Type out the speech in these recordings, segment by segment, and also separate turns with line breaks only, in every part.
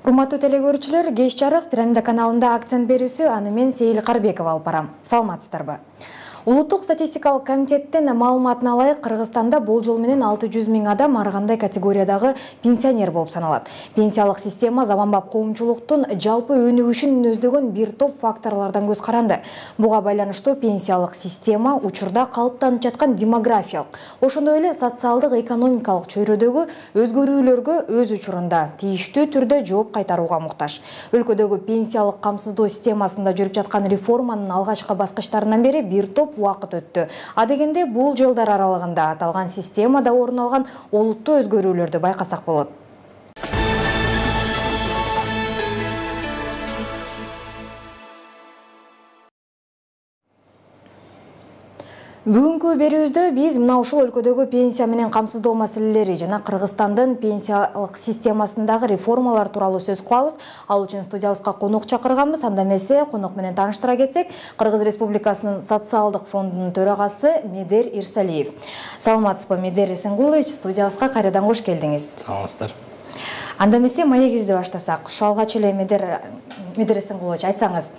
Урматтуу телекөрүүчүлөр, кеч жарык Пирамида каналында акцент берүүсү аны мен Сейил Карбекова алып барам. Саламатсыздарбы? Улуттук статистикалык комитеттин маалыматына ылайык, Кыргызстанда болжол менен 600 000 адам ар кандай категориядагы пенсионер болуп саналат. Пенсиялык система заманбап коомчулуктун жалпы өнүгүшүн мүнөздөгөн бир топ факторлордон көз каранды. Буга байланыштуу пенсиялык система учурда калыптанып жаткан демографиялык, ошондой эле социалдык экономикалык чөйрөдөгү өзгөрүүлөргө өз учурунда тийиштүү түрдө жооп кайтарууга муктаж. Өлкөдөгү пенсиялык камсыздоо системасында жүрүп жаткан реформанын алгачкы баскычтарынан бери бир топ убакыт өттү. Адегенде бул жылдар аралыгында аталган системада орун алган олуттуу өзгөрүүлөрдү байкасак болот. Бүгүнкү берүүбүздө биз мына ушул өлкөдөгү пенсия менен камсыздоо маселелери жана Кыргызстандын пенсиялык системасындагы реформалар тууралуу сөз кылабыз. Ал үчүн студиябызга конок чакырганбыз. Анда эмесе конок менен тааныштыра кетсек, Кыргыз Республикасынын социалдык фондунун төрагасы Медер Ирсалиев. Саламатсызбы, Медер Эсенгулович, студиябызга кайрадан кош келдиңиз.
Саламатсыздар.
Анда эмесе маегибизди баштасак. Ушу алгач эле Медер Эсенгулович, айтсаңыз,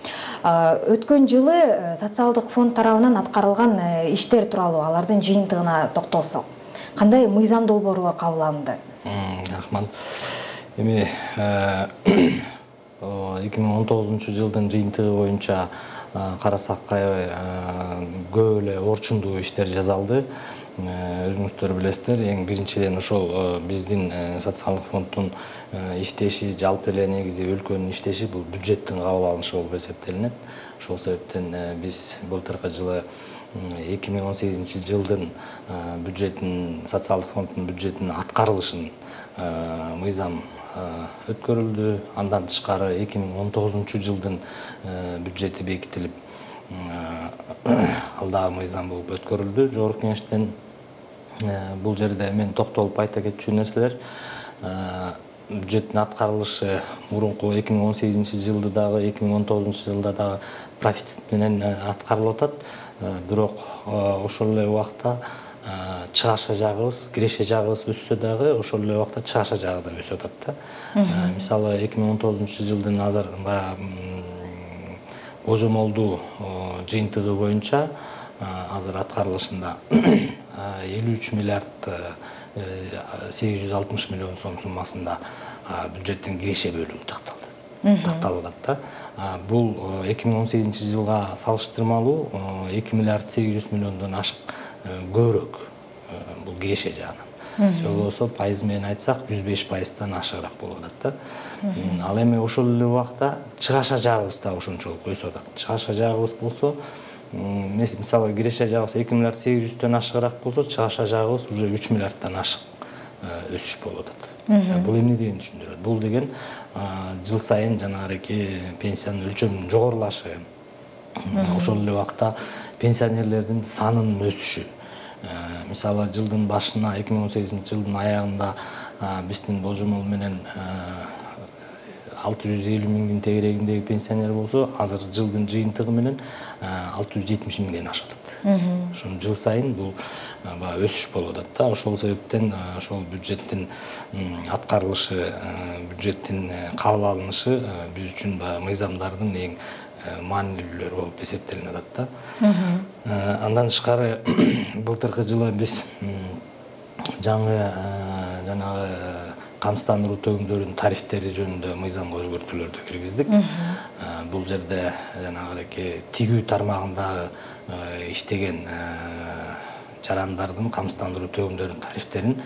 өткөн жылы социалдык фонд тарабынан аткарылган иштер тууралуу, алардын жыйынтыгына токтолсок, кандай мыйзам долбоорлор кабыл алынды?
Рахмат. Эми 2019 жылдын жыйынтыгы боюнча карасак аябай көп эле орчундуу иштер жасалды. Өзүңүздөр билесиздер, эң биринчиден ошол биздин социалдык фонддун иштеши, жалпы эле негизи өлкөнүн иштеши бул бюджеттин кабыл алынышы болуп эсептелинет. Ошол себептен биз былтыркы жылы 2018 жылдын бюджетин, социалдык фонддун бюджетинин аткарылышын мыйзам өткөрүлдү. Андан тышкары 2019 жылдын бюджети бекитилип, ал дагы мыйзам болуп өткөрүлдү жогорку кеңештен. Бул жерде мен токтолуп айта кетчү нерселер, бюджеттин аткарылышы мурунку 2018 жылда дагы 2019 жылда дагы профицит менен аткарылып атат. Бирок ошол эле убакта чыгаша жагыбыз, киреше жагыбыз өссө дагы ошол эле убакта чыгаша жагы да өсүп атат да. Мисалы 2019 жылдын азыр божомолдуу жыйынтыгы боюнча азыр аткарылышында 53 миллиард 860 миллион сом суммасында бюджеттин киреше бөлүгү такталып атат да. Бул 2018 жылга салыштырмалуу 2 миллиард 800 миллиондон ашык көбүрөөк бул киреше жагынан. Же болбосо пайыз менен айтсак 105%тан ашыгыраак болуп атат да. Ал эми ошол эле убакта чыгаша жагыбыз да ошончолук өсүп атат. Чыгаша жагыбыз болсо, мисалы киреше жагыбыз 2 миллиард 800төн ашыгыраак болсо, чыгаша жагыбыз уже 3 миллиардтан ашык өсүш болуп атат. Бул эмне дегенди түшүндүрөт? Бул деген жыл сайын жанагы пенсиянын өлчөмүнүн жогорулашы, ошол эле убакта пенсионерлердин санынын өсүшү. Мисалы жылдын башына 2018 жылдын аягында биздин божомол менен 650 миңдин тегерегиндеги пенсионер болсо, азыр жылдын жыйынтыгы менен 670 миңден ашып атат. Ошон жыл сайын бул өсүш болуп атат да. Ошол себептен ошол бюджеттин аткарылышы, бюджеттин кабыл алынышы биз үчүн мыйзамдардын эң маанилүүлөрү болуп эсептелип атат да. Андан тышкары былтыркы жылы биз жаңы жанагы камсыздандыруу төгүмдөрүнүн тарифтери жөнүндө мыйзамга өзгөртүүлөрдү киргиздик. Бул жерде жанагы тигүү тармагындагы иштеген жарандардын камсыздандыруу төгүмдөрүнүн тарифтерин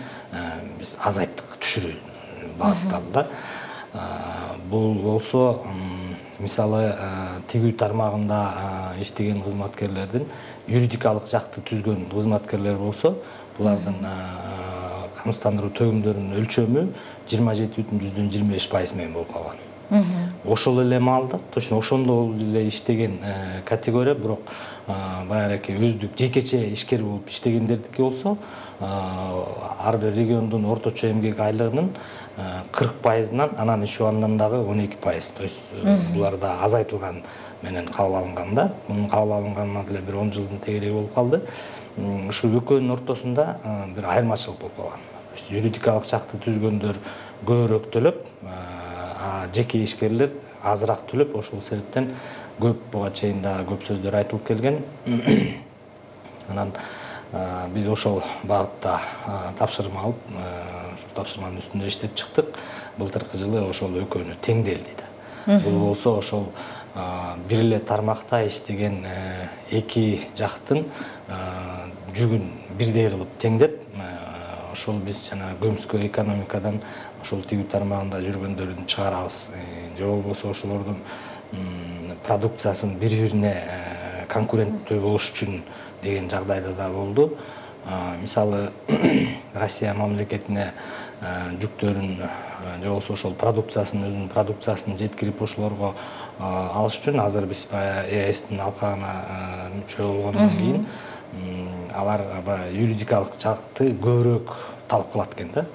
биз азайттык, түшүрүү багытталды да. Бул болсо, мисалы тигүү тармагында иштеген кызматкерлердин юридикалык жакты түзгөн кызматкерлер болсо, булардын камсыздандыруу төгүмдөрүнүн өлчөмү 27,25% менен болуп калган. Ошол эле маалда, точно ошондой эле иштеген категория, бирок баягы өздүк жекече ишкер болуп иштегендердики болсо, ар бир региондун орточо эмгек айлыгынын 40%-нан анан иш убагынан дагы 12%. То есть булар да азайтылган менен кабыл алынган да. Мунун кабыл алынганына деле бир 10 жылдын тегереги болуп калды. Ушул экөөнүн ортосунда бир айырмачылык болуп калган. Юридикалык жакты түзгөндөр көбүрөөк төлөп, жеке ишкерлер азыраак төлөп, ошол себептен көп буга чейин дагы көп сөздөр айтылып келген. Анан биз ошол багытта тапшырма алып, ошол тапшырманын үстүндө иштеп чыктык. Былтыркы жылы ошол экөөнү теңделди да. Бул болсо ошол бир эле тармакта иштеген эки жактын жүгүн бирдей кылып теңдеп, ошол биз жана көмүскө экономикадан ошол тигүү тармагында жүргөндөрдү чыгарабыз. Же болбосо ошолордун продукциясын бири-бирине конкуренттүү болуш үчүн деген жагдайда да болду. Мисалы, Россия мамлекетине жүктөрүн же болбосо ошол продукциясын, өзүнүн продукциясын жеткирип ошолорго алыш үчүн азыр биз ЕСтин алкагына мүчө болгондон кийин алар юридикалык жакты көбүрөөк талап кылат экен да.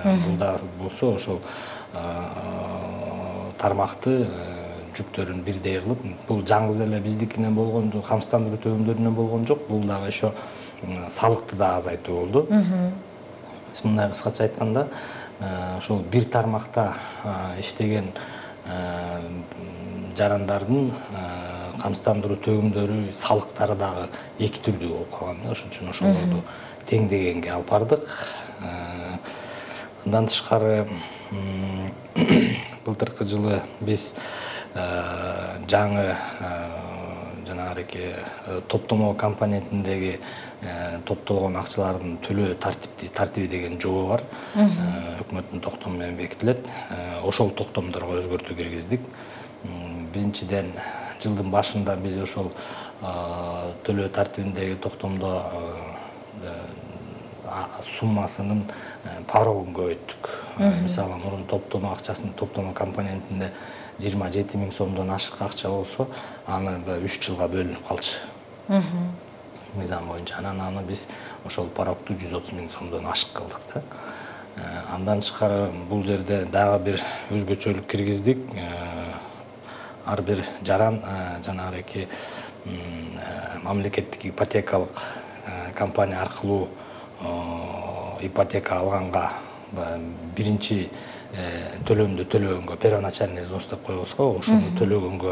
Бул да болсо ошол тармакты жүктөрүн бирдей кылып, бул жалгыз эле биздикинен болгон жок, камсыздандыруу төлөмдөрүнөн болгон жок, бул дагы еще салыкты да азайтуу болду. Биз мындай кыскача айтканда, ошол бир тармакта иштеген жарандардын камсыздандыруу төлөмдөрү, салыктары дагы эки түрдүү болуп калган да. Ошон үчүн ошолорду теңдегенге алып бардык. Андан тышкары былтыркы жылы биз жаңы жанагы топтомо компонентиндеги топтолгон акчалардын төлөө тартиби деген жобо бар. Өкмөттүн токтому менен бекитилет. Ошол токтомдорго өзгөртүү киргиздик. Биринчиден, жылдын башында биз ошол төлөө тартибиндеги токтомдо суммасынын порогун көбөйттүк. Мисалы, мурун топтомо акчасын, топтомо компонентинде 27 000 сомдон ашык акча болсо, аны 3 жылга бөлүнүп калчу. Мыйзам боюнча. Анан аны биз ошол порогту 130 000 сомдон ашык кылдык да. Андан тышкары бул жерде дагы бир өзгөчөлүк киргиздик. Ар бир жаран жанагы мамлекеттик ипотекалык компания аркылуу ипотека алганга биринчи төлөмдү төлөгөнгө, первоначальный взнос деп коебузго, ошону төлөгөнгө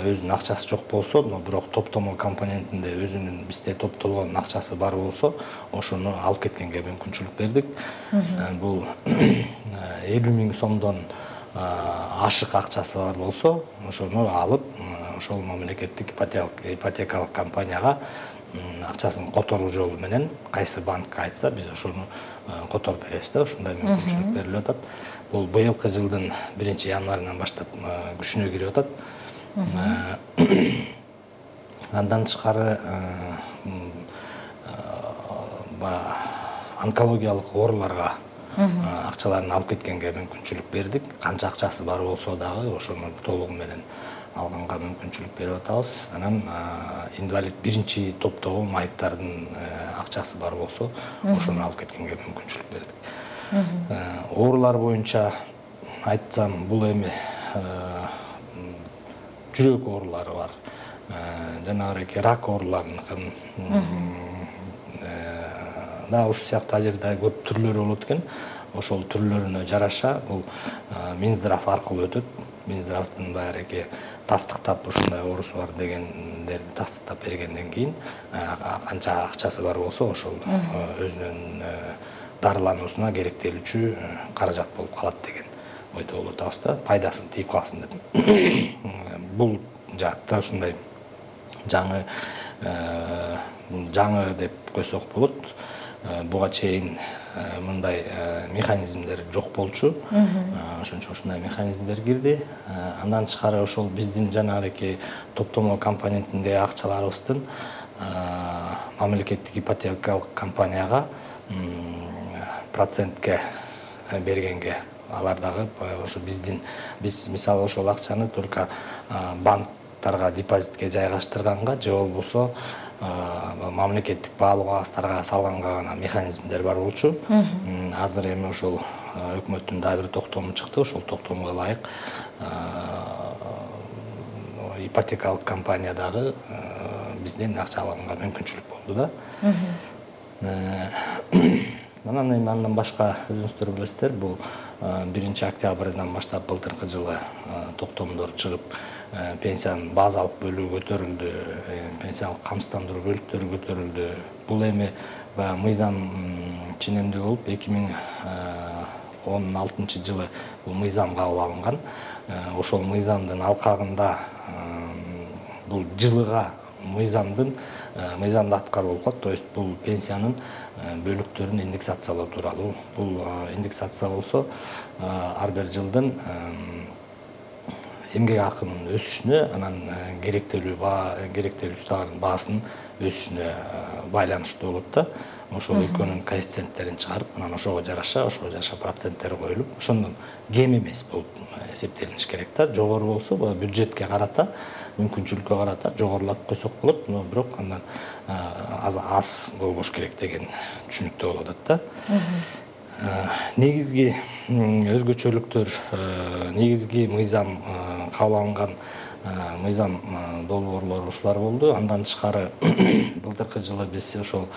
өзүнүн акчасы жок болсо, бирок топтомо компонентинде өзүнүн бизде топтолгон акчасы бар болсо, ошону алып кеткенге мүмкүнчүлүк бердик. Бул 50 000 сомдон ашык акчасы бар болсо, ошону алып, ошол мамлекеттик ипотекалык компанияга акчасын которуу жолу менен кайсы банкка айтса, биз ошону которуп беребиз да. Ушундай мүмкүнчүлүк берилип атат. Бул быйылкы жылдын 1-январынан баштап күчүнө кирип атат. Андан тышкары онкологиялык ооруларга акчаларын алып кеткенге мүмкүнчүлүк бердик. Канча акчасы бар болсо дагы ошону толугу менен алганга мүмкүнчүлүк берип атабыз. Анан инвалид биринчи топтогу майыптардын акчасы бар болсо, ошону алып кеткенге мүмкүнчүлүк бердик. Оорулар боюнча айтсам, бул эми жүрөк оорулары бар. Жанагы рак ооруларынын да ушу сыяктуу ажерде көп түрлөрү болот экен. Ошол түрлөрүнө жараша бул Минздрав аркылуу өтөт. Минздравдын баягы тастыктап ушундай оорусу бар дегендерди тастыктап бергенден кийин канча акчасы бар болсо, ошол өзүнүн дарылануусуна керектелүүчү каражат болуп калат деген ойдо болуп атабыз да, пайдасын тийип калсын деп. Бул жаатта ушундай жаңы деп койсок болот. Буга чейин мындай механизмдер жок болчу. Ошон үчүн ушундай механизмдер кирди. Андан тышкары ошол биздин жанагы топтомо компонентиндеги акчаларыбыздын мамлекеттик ипотекалык компанияга процентке бергенге, алар дагы ошо биз мисалы ошол акчаны только банктарга депозитке жайгаштырганга же болбосо мамлекеттик баалуу кагаздарга салганга гана механизмдер бар болчу. Азыр эми ошол өкмөттүн дагы бир токтому чыкты. Ошол токтомго ылайык ипотекалык компания дагы бизден акча алганга мүмкүнчүлүк болду да. Анан эми андан башка өзүңүздөр билесиздер, бул 1 октябрдан баштап былтыркы жылы токтомдор чыгып, пенсиянын базалык бөлүгү көтөрүлдү, пенсиялык камсыздандыруу бөлүктөрү көтөрүлдү. Бул эми баягы мыйзам ченемдүү болуп 2016 жылы бул мыйзам кабыл алынган. Ошол мыйзамдын алкагында бул жылыга мыйзамды аткаруу болуп калат. То есть бул пенсиянын бөлүктөрүн индексациялоо тууралуу. Бул индексация болсо ар бир жылдын эмгек акынын өсүшүнө, анан керектелүүчү товардын баасынын өсүшүнө байланыштуу болот да. Ошол экөөнүн коэффициенттерин чыгарып, анан ошого жараша проценттери коюлуп, ошондон кем эмес болуп эсептелиниш керек да. Жогору болсо, бюджетке карата, мүмкүнчүлүккө карата жогорулатып койсок болот, бирок андан аз болбош керек деген түшүнүктө болуп атат да. Негизги өзгөчөлүктөр, негизги мыйзам кабыл алынган мыйзам долбоорлору ушулар болду. Андан тышкары былтыркы жылы биз ошол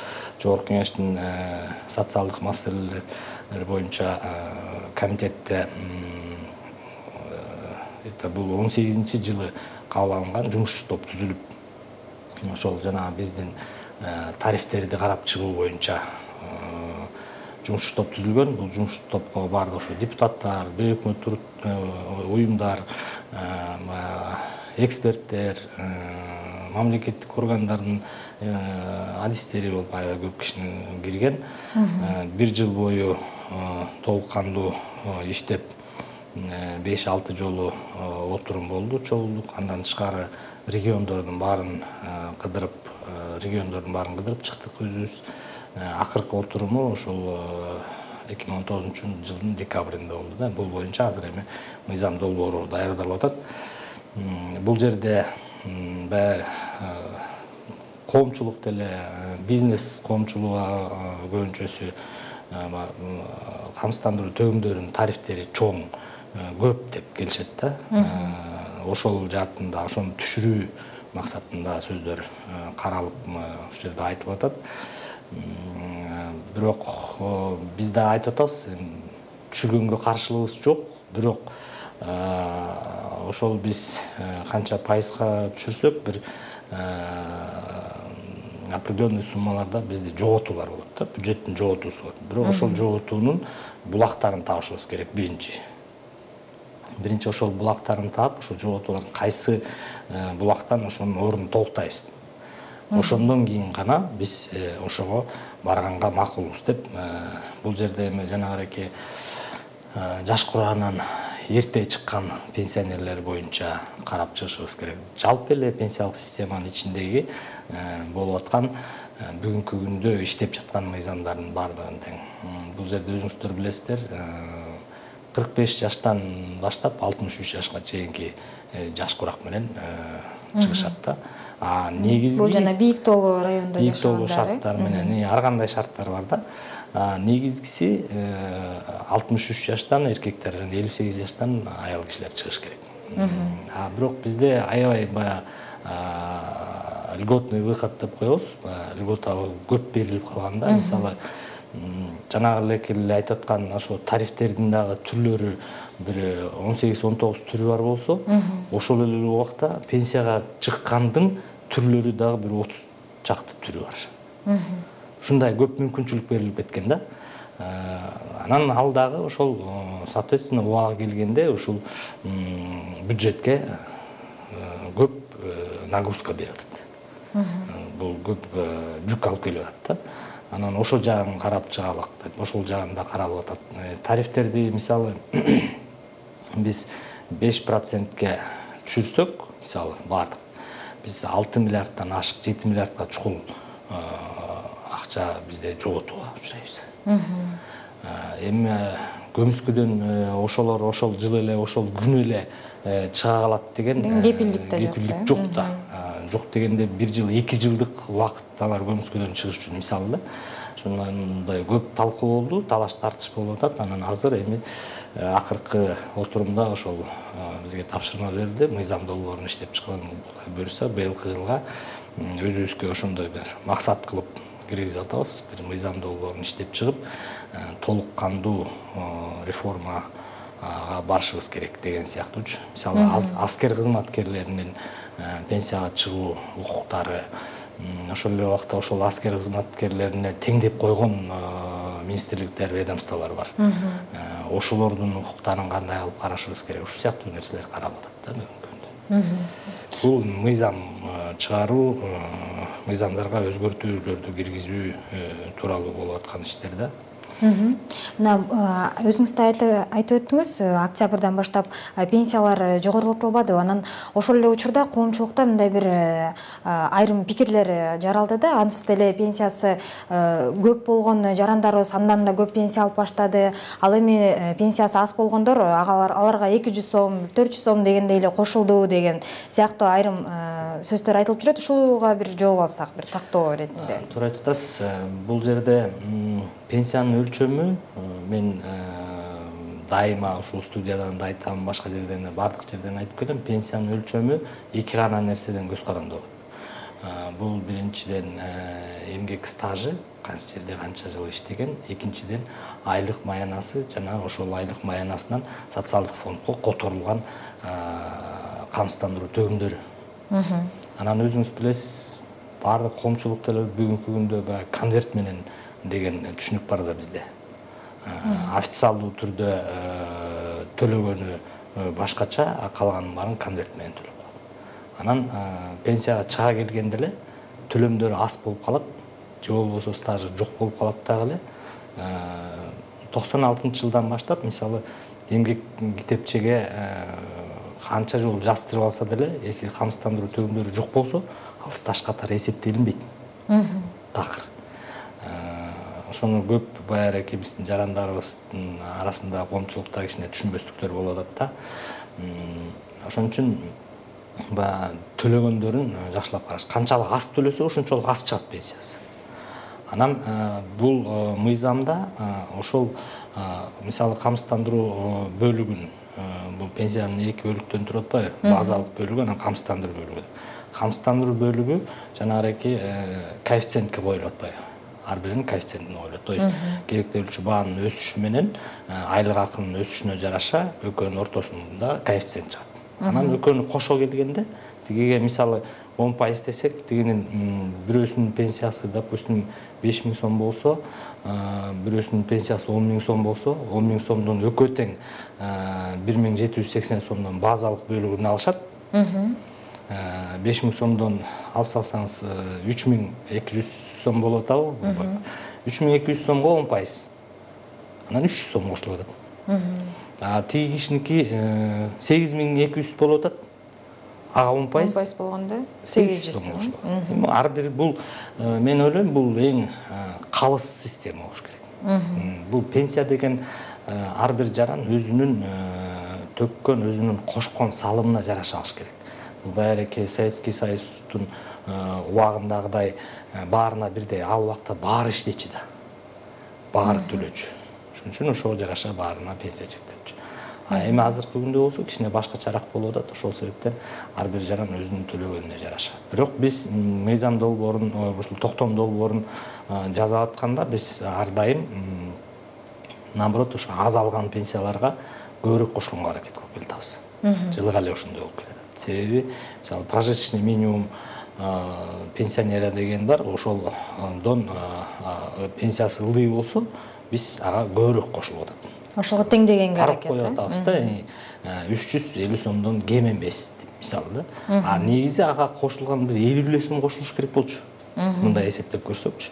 Жогорку Кеңештин социалдык маселелер боюнча комитетте бул 18-жылы кабыл алынган жумуш топ түзүлүп, ошол жана биздин тарифтерди карап чыгуу боюнча жумуш топ түзүлгөн. Бул жумуш топко баардык ошо депутаттар, бейөкмөт уюмдар, эксперттер, мамлекеттик органдардын адистери болуп аябай көп кишинин кирген. 1 жыл бою толук кандуу иштеп 5-6 жолу отурум болду, чогулдук. Андан тышкары региондордун баарын кыдырып чыктык өзүбүз. Акыркы отуруму ошол 2019 жылдын декабрында болду да. Бул боюнча азыр эми мыйзам долбоору даярдалып атат. Бул жерде коомчулук деле, бизнес коомчулугу көбүнчөсү камсыздандыруу төгүмдөрүнүн тарифтери чоң, көп деп келишет да. Ошол жаатында ошону түшүрүү максатында сөздөр каралып, ушул жерде айтылып атат. Бирок биз да айтып атабыз, түшүргөнгө каршылыгыбыз жок, бирок ошол биз канча пайызга түшүрсөк, бир определенный суммаларда бизде жоготуулар болот да, бюджеттин жоготуусу болот. Бирок ошол жоготуунун булактарын табышыбыз керек биринчи ошол булактарын таап, ошол жоготуулардын кайсы булактан ошонун ордун толуктайбыз. Ошондон кийин гана биз ошого барганга макулбуз деп. Бул жерде эми жанагыраки жаш кураанан эрте чыккан пенсионерлер боюнча карап чыгышыбыз керек. Жалпы эле пенсиялык системанын ичиндеги болуп аткан бүгүнкү күндө иштеп жаткан мыйзамдардын баардыгын тең. Бул жерде өзүңүздөр билесиздер, 45 жаштан баштап 63 жашка чейинки жаш курак менен чыгышат да. Негизги
бул жана бийик тоолуу районунда
жашагандар, бийик тоолуу шарттар менен ар кандай шарттар бар да. Негизгиси 63 жаштан эркектер жана 58 жаштан аял кишилер чыгыш керек. Бирок бизде аябай льготный выход деп коебуз. Льготалы көп берилип калганда, мисалы жанагы эле айтып аткан ошо тарифтердин дагы түрлөрү бир 18-19 түрү бар болсо, ошол эле убакта пенсияга чыккандын түрлөрү дагы бир 30 чакты түрү бар. Ушундай көп мүмкүнчүлүк берилип кеткен да. Анан ал дагы ошол соответственно убагы келгенде ушул бюджетке көп нагрузка берип атат. Бул көп жүк алып келип атат да. Анан ошол жагын карап чыгалык деп, ошол жагында каралып атат. Тарифтерди мисалы биз 5%ке түшүрсөк, мисалы бардык, биз 6 миллиарддан ашык 7 миллиардка чукул акча бизде жоготууга учурайбыз. Эми көмүскөдөн ошол жылы эле, ошол күнү эле чыга калат деген кепилдик жок да. Жок дегенде 1 жыл, 2 жылдык убакыт алар көмүскөдөн чыгыш үчүн мисалы да. Ошондой көп талкуу болду, талаш тартыш болуп атат. Анан азыр эми акыркы отурумда ошол бизге тапшырма берилди, мыйзам долбоорун иштеп чыгып буюрса быйылкы жылга өзүбүзгө ошондой бир максат кылып киргизип атабыз. Бир мыйзам долбоорун иштеп чыгып, толук кандуу реформага барышыбыз керек деген сыяктуучу. Мисалы, аскер кызматкерлеринин пенсияга чыгуу укуктары, ошол эле убакта ошол аскер кызматкерлерине теңдеп койгон министрликтер, ведомстволор бар. Ошолордун укуктарын кандай кылып карашыбыз керек, ушул сыяктуу нерселер каралып атат да бүгүнкү күндө. Бул мыйзам чыгаруу, мыйзамдарга өзгөртүүлөрдү киргизүү тууралуу болуп аткан иштер да.
Мына өзүңүз да айтып өттүңүз, октябрдан баштап пенсиялар жогорулатылбады. Анан ошол эле учурда коомчулукта мындай бир айрым пикирлер жаралды да. Ансыз деле пенсиясы көп болгон жарандарыбыз андан да көп пенсия алып баштады. Ал эми пенсиясы аз болгондор аларга 200 сом, 400 сом дегендей эле кошулду деген сыяктуу айрым сөздөр айтылып жүрөт. Ушуга бир жооп алсак, бир тактоо иретинде.
Туура айтып атасыз. Бул жерде пенсиянын өлчөмү, мен дайыма ушул студиядан да айтам, башка жерден да, бардык жерден айтып келем, пенсиянын өлчөмү эки гана нерседен көз каранды болот. Бул биринчиден эмгек стажы, канча жерде канча жыл иштеген, экинчиден айлык маянасы жана ошол айлык маянасынан социалдык фондго которулган камсыздандыруу төгүмдөрү. Анан өзүңүз билесиз, бардык коомчулукта эле бүгүнкү күндө баягы конверт менен деген түшүнүк бар да бизде. Официалдуу түрдө төлөгөнү башкача, калганын баарын конверт менен төлөп коет. Анан пенсияга чыга келгенде эле төлөмдөрү аз болуп калат, же болбосо стажы жок болуп калат дагы эле. 96-жылдан баштап, мисалы, эмгек китепчеге канча жол жаздырып алса деле, эси камсыздандыруу төгүмдөрү жок болсо, ал стаж катары эсептелинбейт. Такыр. Ошону көп баягы биздин жарандарыбыздын арасында коомчулукта кичине түшүнбөстүктөр болуп атат да. Ошон үчүн баягы төлөгөндөрүн жакшылап караш. Канчалык аз төлөсө, ошончолук аз чыгат пенсиясы. Анан бул мыйзамда ошол мисалы камсыздандыруу бөлүгүн, бул пенсиянын эки бөлүктөн турат атпайбы? Базалык бөлүгү, анан камсыздандыруу бөлүгү. Камсыздандыруу бөлүгү жанагы коэффициентке коюлуп атпайбы? Ар биринин коэффициентине коюлат. То есть керектелүүчү баанын өсүшү менен айлык акынын өсүшүнө жараша экөөнүн ортосунда коэффициент чыгат. Анан экөөнү кошо келгенде, тигиге мисалы 10% десек, тигинин бирөөсүнүн пенсиясы, допустим, 5000 сом болсо, бирөөсүнүн пенсиясы 10 000 сом болсо, 10 000 сомдон экөө тең 1780 сомдон базалык бөлүгүн алышат. 5000 сомдон алып салсаңыз 3200 сом болуп атабы? 3200 сомго 10%. Анан 300 сом кошулуп атат. Тиги кишиники 8200 болуп атат. Ага 10%
болгондо
800 сом кошулуп атат. Ар бир бул, мен ойлойм, бул эң калыс система болуш керек. Бул пенсия деген ар бир жаран өзүнүн төккөн, өзүнүн кошкон салымына жараша алыш керек. Баягы Советский Союздун убагындагыдай баарына бирдей ал убакта баары иштечү да. Баары төлөчү. Ошон үчүн ошого жараша баарына пенсия чектелчү. Эми азыркы күндө болсо кичине башкачараак болуп атат. Ошол себептен ар бир жаран өзүнүн төлөгөнүнө жараша. Бирок биз мыйзам долбоорун, ушул токтом долбоорун жазып атканда биз ар дайым наоборот ошо аз алган пенсияларга көбүрөөк кошконго аракет кылып келатабыз. Жылга эле ошондой болуп келет. Себеби, мисалы, прожиточный минимум пенсионера деген бар, ошолдон пенсиясы ылдый болсо, биз ага көбүрөөк кошулуп атат.
Ошого теңдегенге
аракет коюп атабыз да, 350 сомдон кем эмес деп, мисалы да. Негизи ага кошулган бир 50 сом кошулуш керек болчу. Мындай эсептеп көрсөкчү.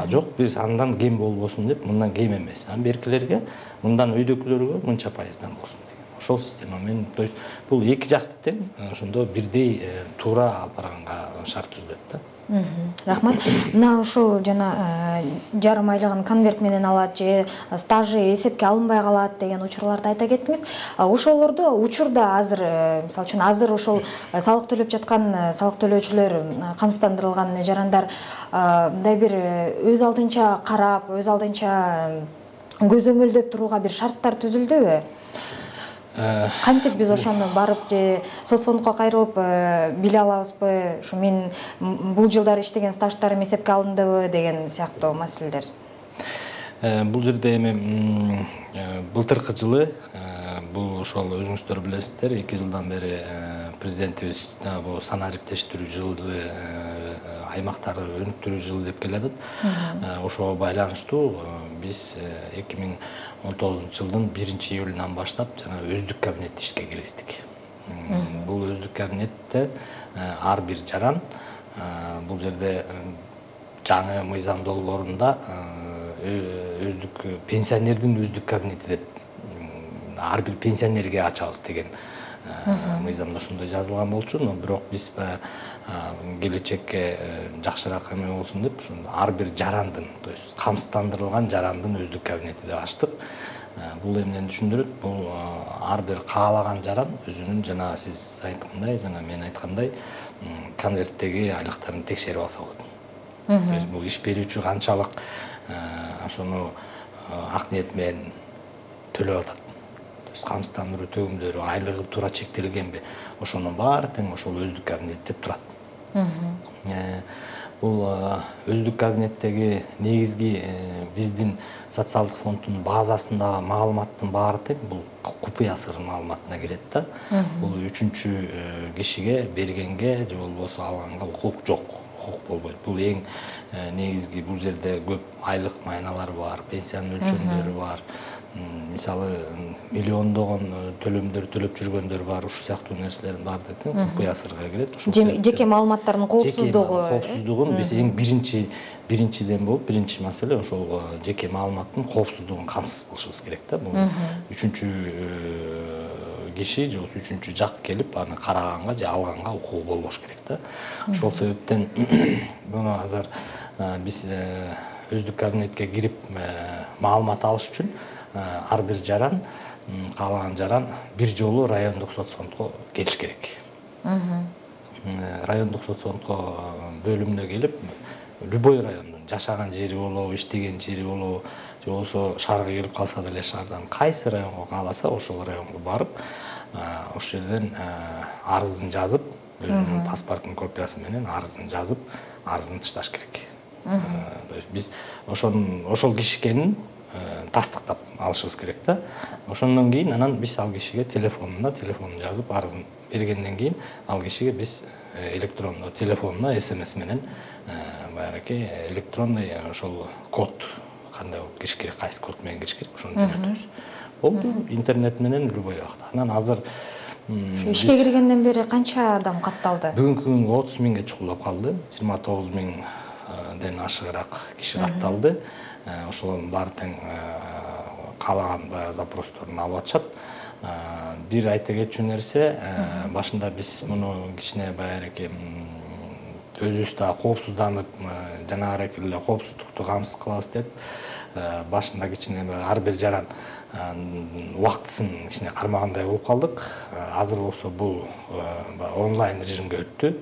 Жок, биз андан кем болбосун деп, мындан кем эмес. Беркилерге, мындан өйдөкүлөргө мынча пайыздан болсун. Ошол системамен, то есть бул эки жакты тең, ошондо бирдей туура алып барганга шарт түзүлөт да.
Рахмат. Мына ушул жана жарым айлыгын конверт менен алат же стажы эсепке алынбай калат деген учурларды айта кеттиңиз. Ошолорду учурда азыр, мисалы үчүн азыр ошол салык төлөп жаткан салык төлөөчүлөр, камсыздандырылган жарандар мындай бир өз алдынча карап, өз алдынча көзөмөлдөп турууга бир шарттар түзүлдүбү? Кантип биз ошону барып же соцфондко кайрылып биле алабызбы? Ушу мен бул жылдары иштеген стаждарым эсепке алындыбы деген сыяктуу маселелер.
Бул жерде эми былтыркы жылы бул ошол өзүңүздөр билесиздер, 2 жылдан бери президентибиз бул санаа жиптештирүү жылды аймактарды өнүктүрүү жылы деп келатат. Ошого байланыштуу биз 2019 жылдын 1-июлунан баштап жана өздүк кабинет ишке киргиздик. Бул өздүк кабинетте ар бир жаран бул жерде жаңы мыйзам долбоорунда өздүк пенсионердин өздүк кабинети деп ар бир пенсионерге ачабыз деген мыйзамда ошондой жазылган болчу, но бирок биз келечекке жакшыраак эме болсун деп ушул ар бир жарандын, то есть камсыздандырылган жарандын өздүк кабинети деп ачтык. Бул эмнени түшүндүрөт? Бул ар бир каалаган жаран өзүнүн жана сиз айткандай, жана мен айткандай конверттеги айлыктарын текшерип алса болот. То есть бул иш берүүчү канчалык ошону ак ниет менен төлөп атат. То есть камсыздандыруу төгүмдөрү, айлыгы туура чектелгенби, ошонун баары тең ошол өздүк кабинет деп турат. Бул өздүк кабинеттеги негизги биздин социалдык фонддун базасындагы маалыматтын баары тең бул купуя сыр маалыматына кирет да. Бул үчүнчү кишиге бергенге же болбосо алганга укук жок. Болбойт. Бул эң негизги, бул жерде көп айлык майналар бар, пенсия өлчөмдөрү бар. Мисалы миллиондогон төлөмдөр төлөп жүргөндөр бар, ушул сыяктуу нерселердин баары тең купуя сырга кирет.
Жеке маалыматтардын
коопсуздугун биз эң биринчиден болуп, биринчи маселе ошол жеке маалыматтын коопсуздугун камсыз кылышыбыз керек да. Бул үчүнчү киши же үчүнчү жак келип аны караганга же алганга укугу болбош керек да. Ошол себептен буну азыр биз өздүк кабинетке кирип маалымат алыш үчүн ар бир жаран, каалаган жаран бир жолу райондук соцфондко келиш керек. Райондук соцфондко бөлүмүнө келип, любой райондун жашаган жери болобу, иштеген жери болобу, же болбосо шаарга келип калса деле шаардан кайсы районго кааласа ошол районго барып, ошол жерден арызын жазып, өзүнүн паспорттун копиясы менен арызын жазып, арызын ташташ керек. То есть биз ошол киши экенин тастыктап алышыбыз керек да. Ошондон кийин анан биз ал кишиге телефонун жазып, арызын бергенден кийин ал кишиге биз электрондо телефонуна СМС менен баягы электронный ошол код кандай болуп кириш керек, кайсы код менен кириш керек, ошону жөнөтөбүз. Болду, интернет менен любой убакта. Анан азыр
ишке киргенден бери канча адам катталды?
Бүгүнкү күнгө 30 миңге чукулдап калды. 29 миңден ашыгыраак киши катталды. Ошолордун баары тең каалаган запросторун алып атышат. Бир айта кетчү нерсе, башында биз муну кичине баягы өзүбүз да коопсузданып, жанагы эле коопсуздукту камсыз кылабыз деп, башында кичине ар бир жаран убактысын кичине кармагандай болуп калдык. Азыр болсо бул онлайн режимге өттү.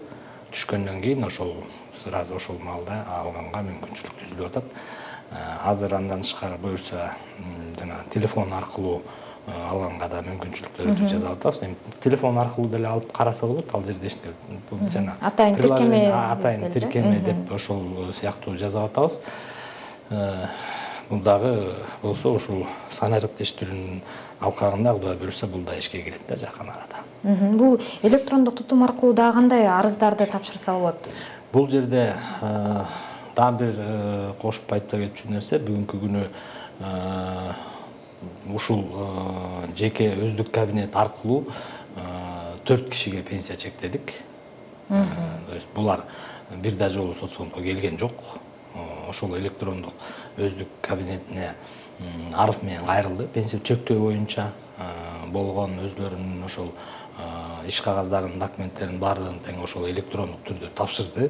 Түшкөндөн кийин ошол сразу ошол маалда алганга мүмкүнчүлүк түзүлүп атат. Азыр андан тышкары буюрса жана телефон аркылуу алганга да мүмкүнчүлүктөрдү жасап атабыз. Эми телефон аркылуу деле алып караса болот. Ал жерде жана
атайын
тиркеме деп ошол сыяктуу жасап атабыз. Бул дагы болсо ушул санаа жиптештирүүнүн алкагында Кудай буюрса бул да ишке кирет да жакын арада.
Бул электрондук тутум аркылуу дагы кандай арыздарды тапшырса болот?
Бул жерде дагы бир кошуп айта кетчү нерсе, бүгүнкү күнү ушул жеке өздүк кабинет аркылуу 4 кишиге пенсия чектедик. То есть булар бир да жолу соцфондко келген жок. Ошол электрондук өздүк кабинетине арыз менен кайрылды. Пенсия чектөө боюнча болгон өзлөрүнүн ошол иш кагаздарын, документтерин баардыгын тең ошол электрондук түрдө тапшырды.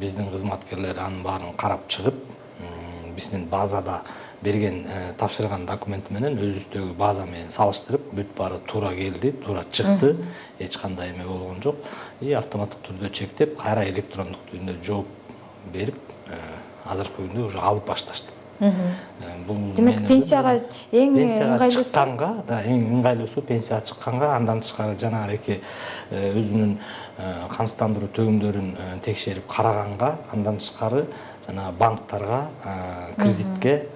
Биздин кызматкерлер анын баарын карап чыгып, биздин базада берген тапшырган документи менен өзүбүздөгү база менен салыштырып, бүт баары туура келди, туура чыкты, эч кандай эме болгон жок. И автоматтык түрдө чектеп, кайра электрондук түрдө жооп берип, азыркы күндө уже алып башташты.
Демек пенсияга эң ыңгайлуусу
чыкканга, да, эң ыңгайлуусу пенсияга чыкканга, андан тышкары жанагы эки өзүнүн камсыздандыруу төгүмдөрүн текшерип караганга, андан тышкары жана банктарга кредитке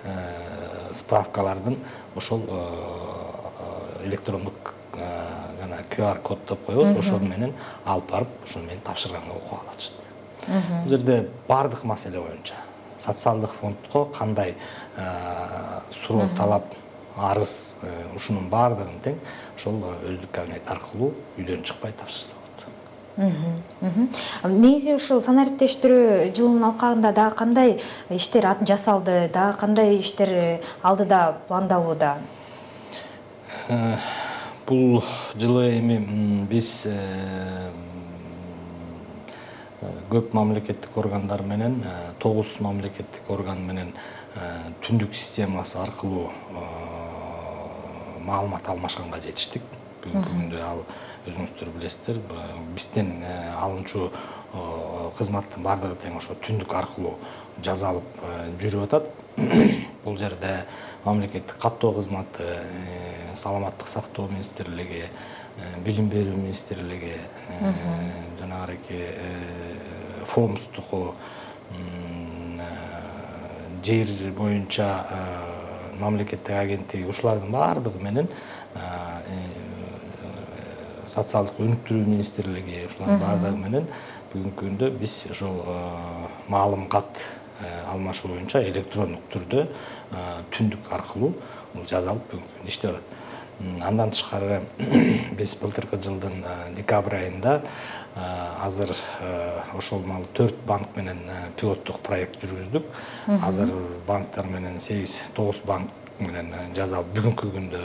справкалардын ошол электрондук жана QR код деп коебуз, ошол менен алып барып, ошол менен тапшырганга укук алышат. Бул жерде бардык маселе боюнча социалдык фондко кандай суроо, талап, арыз, ушунун бардыгын тең ошол өздүк кабинет аркылуу үйдөн чыкпай тапшырса болот.
Негизи ушул санариптештирүү жылынын алкагында дагы кандай иштер жасалды, дагы кандай иштер алдыда пландалууда?
Бул жылы эми биз көп мамлекеттик органдар менен, 9 мамлекеттик орган менен түндүк системасы аркылуу маалымат алмашканга жетиштик. Бүгүнкү күндө ал өзүңүздөр билесиздер, бизден алынчу кызматтын бардыгы тең ошо түндүк аркылуу жазалып жүрүп атат. Бул жерде мамлекеттик каттоо кызматы, саламаттык сактоо министрлиги, билим берүү министрлиги, жанагы фомстуку, жер боюнча мамлекеттик агенттиги, ушулардын бардыгы менен социалдык өнүктүрүү министрлиги, ушулардын бардыгы менен бүгүнкү күндө биз ошол маалымат алмашуу боюнча электрондук түрдө түндүк аркылуу жазалып бүгүнкү күндө иштеп атат. Андан тышкары биз былтыркы жылдын декабрь айында азыр ошол 4 банк менен пилоттук проект жүргүздүк. Азыр банктар менен 9 банк менен жазалып бүгүнкү күндө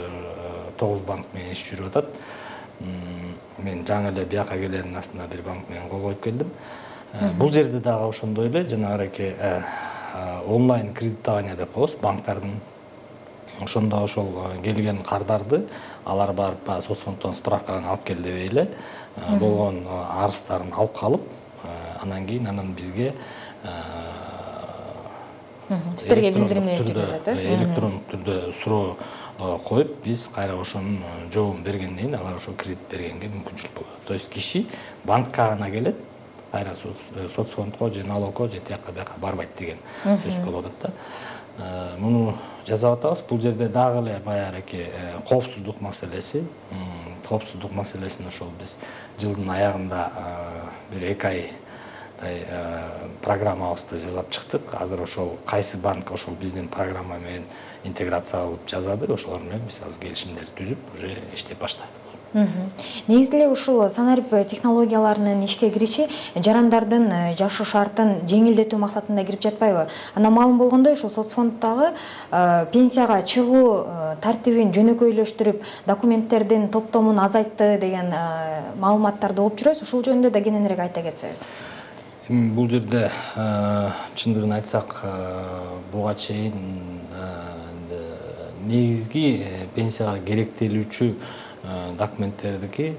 9 банк менен иш жүрүп атат. Мен жаңы эле бияка келердин астында бир банк менен кол коюп келдим. Бул жерде дагы ошондой эле жанагы онлайн кредитование деп коебуз, банктардын ошондо ошол келген кардарды алар барып соцфонддон справканы алып кел дебей эле болгон арыздарын алып калып, анан кийин бизге
сиздерге билдирме кетет,
электрондук түрдө суроо коюп, биз кайра ошонун жообун бергенден кийин алар ошо кредит бергенге мүмкүнчүлүк болот. То есть киши банкка гана келет, кайра соцфондко же налогко же тияка бияка барбайт деген сөз болуп атат да. Муну жасап атабыз. Бул жерде дагы эле баягы коопсуздук маселеси. Коопсуздук маселесин ошол биз жылдын аягында бир 2 айдай программабызды жасап чыктык. Азыр ошол кайсы банк ошол биздин программа менен интеграция кылып жазады, ошолор менен биз азыр келишимдерди түзүп, уже иштеп баштадык.
Негизи эле ушул санарип технологияларынын ишке кириши жарандардын жашоо шартын жеңилдетүү максатында кирип жатпайбы? Ана маалым болгондой, ушул соцфонддагы пенсияга чыгуу тартибин жөнөкөйлөштүрүп, документтердин топтомун азайтты деген маалыматтарды угуп жүрөбүз. Ушул жөнүндө да кененирээк айта кетсеңиз.
Бул жерде чындыгын айтсак, буга чейин негизги пенсияга керектелүүчү документтердики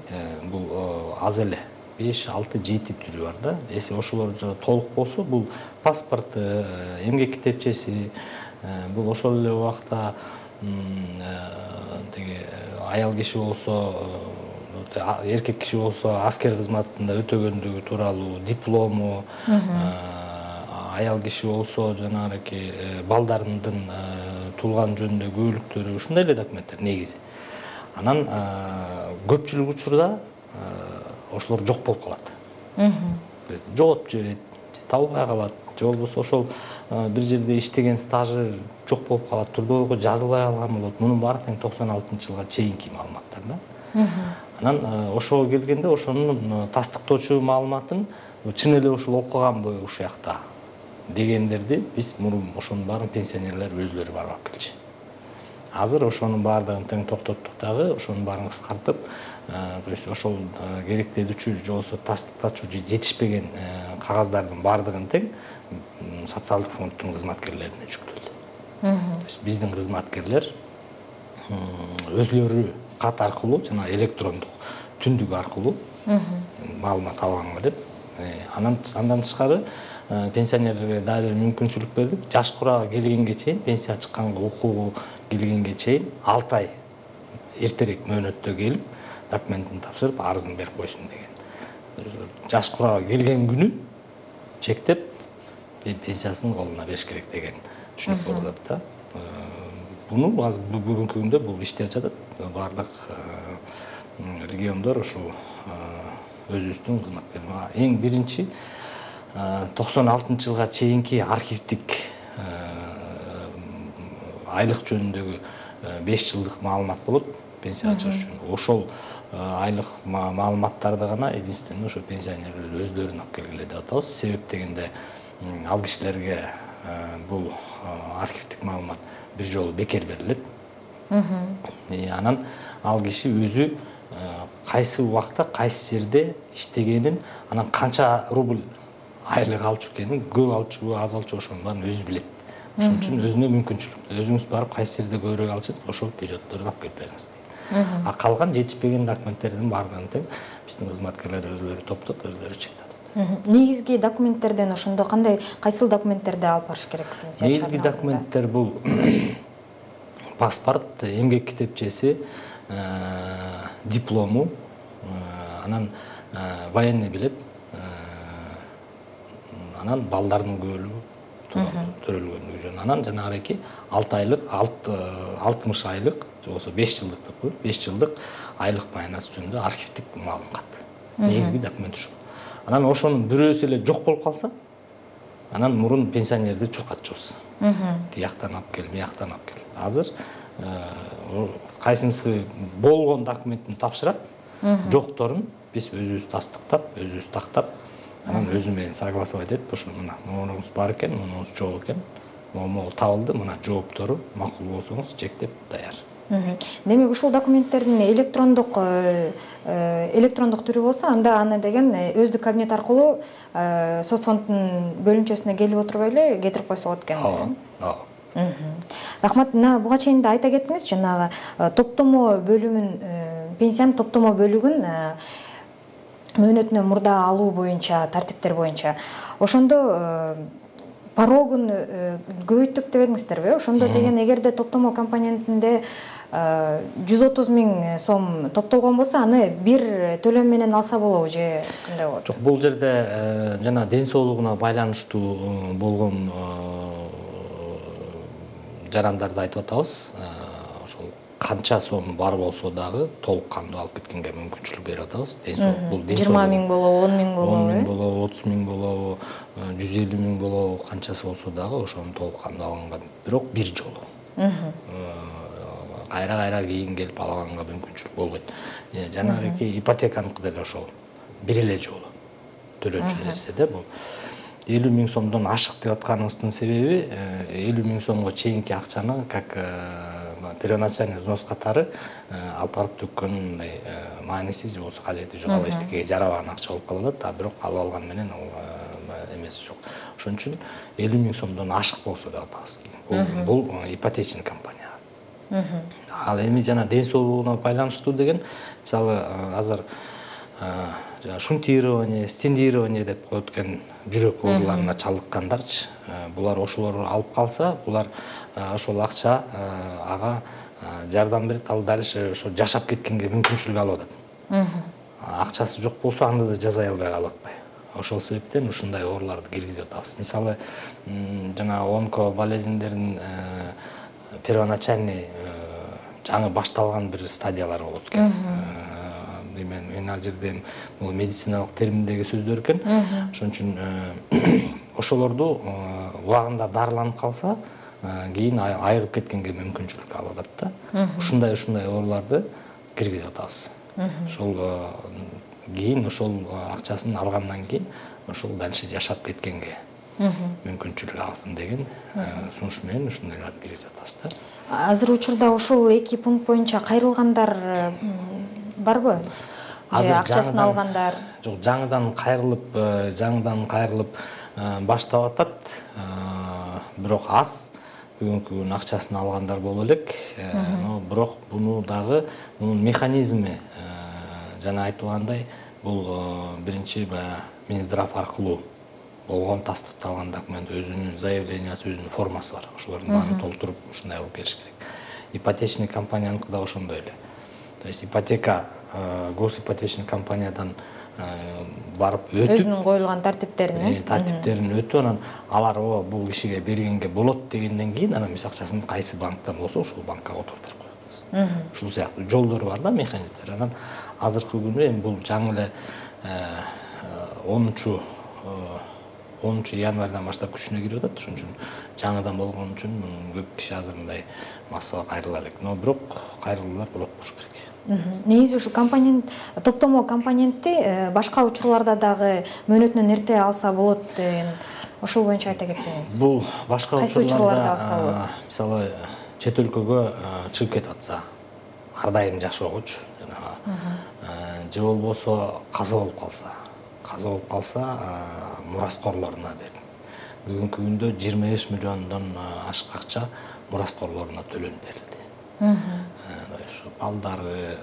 бул аз эле 5, 6, 7 түрү бар да. Эси ошолор толук болсо, бул паспорт, эмгек китепчеси, бул ошол эле убакта аял киши болсо, эркек киши болсо аскер кызматында өтөгөндүгү тууралуу диплому, аял киши болсо жанагы балдарынын туулган жөнүндө күбөлүктөрү, ушундай эле документтер негизи. Анан көпчүлүк учурда ошолор жок болуп калат. Жоготуп жиберет, табылбай калат, же болбосо ошол бир жерде иштеген стажы жок болуп калат, трудовойго жазылбай калган болот. Мунун баары тең 96-жылга чейинки маалыматтар да. Анан ошого келгенде ошонун тастыктоочу маалыматын чын эле ушул окуганбы ушуякта дегендерди биз мурун ошонун баарын пенсионерлер өзлөрү барып алып келчү. Азыр ошонун баардыгын тең токтоттук дагы, ошонун баарын кыскартып, то есть ошол керектелүүчү же болбосо тастыктачу же жетишпеген кагаздардын баардыгын тең социалдык фонддун кызматкерлерине жүктөлдү. То есть биздин кызматкерлер өзлөрү кат аркылуу жана электрондук түндүк аркылуу маалымат алганга деп Андан тышкары пенсионерлерге дагы бир мүмкүнчүлүк бердик. Жаш курага келгенге чейин, пенсия чыкканга укугу келгенге чейин 6 ай эртерээк мөөнөттө келип, документин тапшырып, арызын берип койсун деген. Жаш курага келген күнү чектеп пенсиясын колуна бериш керек деген түшүнүк болуп атат да. Буну азыр бүгүнкү күндө бул иштеп жатат. Бардык региондор ушул өзүбүздүн кызматкерлер. Эң биринчи 96-жылга чейинки архивдик айлык жөнүндөгү 5 жылдык маалымат болот пенсия ачыш үчүн. Ошол айлык маалыматтарды гана единственно ошо пенсионерлер өздөрүн алып келгиле деп атабыз. Себеп дегенде ал кишилерге бул архивдик маалымат бир жолу бекер берилет. Анан ал киши өзү кайсы убакта, кайсы жерде иштегенин, анан канча рубль айлык алчу экенин, көп алчубу, аз алчу ошонун баарын өзү билет. Ошон үчүн өзүнө мүмкүнчүлүк. Өзүңүз барып кайсы жерде көбүрөөк алчу, ошол периоддорду алып келип бериңиз дейт. А калган жетишпеген документтердин баардыгын тең биздин кызматкерлер өзүлөрү топтоп, өзүлөрү чектеп.
Негизги документтерден ошондо кандай, кайсыл документтерди алып барыш керек?
Негизги документтер бул паспорт, эмгек китепчеси, диплому, анан военный билет, анан балдардын көбөлүгү төрөлгөндүгү жөнүндө, анан жанагы 6 айлык, 60 айлык, же болбосо 5 жылдык деп коет, 5 жылдык айлык маянасы жөнүндө архивдик маалымат. Негизги документ ушул. Анан ошонун бирөөсү эле жок болуп калса, анан мурун пенсионерди чуркатчубуз. Тияктан алып кел, бияктан алып кел. Азыр кайсынысы болгон документин тапшырат, жокторун биз өзүбүз тастыктап, өзүбүз тактап, анан өзү менен согласовать этип, ошо мына монуңуз бар экен, монуңуз жок экен, могу табылды, мына жооптору макул болсоңуз чектеп даяр.
Демек ушул документтердин электрондук түрү болсо, анда аны деген өздүк кабинет аркылуу соцфонддун бөлүмчөсүнө келип отурбай эле кетирип койсо болот экен. Рахмат. Буга чейин да айта кеттиңиз, жанагы топтомо бөлүмүн, пенсиянын топтомо бөлүгүн мөөнөтүнө мурда алуу боюнча, тартиптер боюнча. Ошондо порогун көбөйттүк деп едиңиздерби? Ошондо деген эгерде топтомо компонентинде 130 000 сом топтолгон болсо, аны бир төлөм менен алса болобу же кандай болот?
Жок, бул жерде жана ден соолугуна байланыштуу болгон жарандарды айтып атабыз. Ошол канча сом бар болсо дагы толук кандуу алып кеткенге мүмкүнчүлүк берип атабыз. Ден соолук бул
20 000 болобу, 10 000 болобу,
10 000 болобу, 30 000 болобу, 150 000 болобу, канчасы болсо дагы ошону толук кандуу алганга, бирок бир жолу. Кайра кийин келип алганга мүмкүнчүлүк болбойт. Жанагы ипотеканыкы деле ошол бир эле жолу төлөнчү нерсе да бул. 50 000 сомдон ашык деп атканыбыздын себеби 50 000 сомго чейинки акчаны как первоначальный взнос катары алып барып төккөнүн мындай мааниси же болбосо кажети жок, ал эчтекеге жарабаган акча болуп калат, а бирок алып алган менен ал эмеси жок. Ошон үчүн 50 000 сомдон ашык болсо деп атабыз. Бул ипотечный компания. Ал эми жана ден соолугуна байланыштуу деген, мисалы азыр шунтирование, стендирование деп коет экен, жүрөк ооруларына чалдыккандарчы, булар ошолор алып калса, булар ошол акча ага жардам берет, ал дальше ошо жашап кеткенге мүмкүнчүлүк алып атат. Акчасы жок болсо анда да жаза албай калып атпайбы. Ошол себептен ушундай ооруларды киргизип атабыз. Мисалы, жана онко болезньдердин первоначальный жаңы башталган бир стадиялар болот экен. Мен ал жерде бул медициналык терминдеги сөздөр экен. Ошон үчүн ошолорду убагында дарыланып калса, кийин айыгып кеткенге мүмкүнчүлүк алып атат да. Ушундай ооруларды киргизип атабыз. Ошол кийин ошол акчасын алгандан кийин ошол дальше жашап кеткенге мүмкүнчүлүк алсын деген сунуш менен ушундайларды киргизип атабыз да.
Азыр учурда ушул 2 пункт боюнча кайрылгандар барбы? Же акчасын алгандар?
Жок, жаңыдан кайрылып баштап атат. Бирок аз бүгүнкү күн акчасын алгандар боло элек. Бирок буну дагы механизми жана айтылгандай бул биринчи Минздрав аркылуу болгон тастыкталган документ, өзүнүн заявлениясы, өзүнүн формасы бар. Ошолордун баарын толтуруп ушундай алып келиш керек. Ипотечный компанияныкы да ошондой эле. То есть ипотека госипотечный компаниядан барып өтүп,
өзүнүн коюлган
тартиптерин өтүп, анан алар бул кишиге бергенге болот дегенден кийин анан өз акчасын кайсы банктан болсо ошол банкка которуп берип коет. Ушул сыяктуу жолдору бар да, механизмдер. Анан азыркы күнү эми бул жаңы эле 10 январдан баштап күчүнө кирип атат. Ошон үчүн жаңыдан болгон үчүн көп киши азыр мындай массага кайрыла элек. Но бирок кайрылуулар болот болуш керек.
Негизи ушу топтомо компонентти башка учурларда дагы мөөнөтүнөн эрте алса болот деген, ошол боюнча айта кетсеңиз.
Бул башка
учурларда алса болот?
Мисалы чет өлкөгө чыгып кетип атса, ар дайым жашоогочу, же болбосо каза болуп калса, мураскорлоруна берип. Бүгүнкү күндө 25 миллиондон ашык акча мураскорлоруна төлөнүп берилди. Ошо балдары,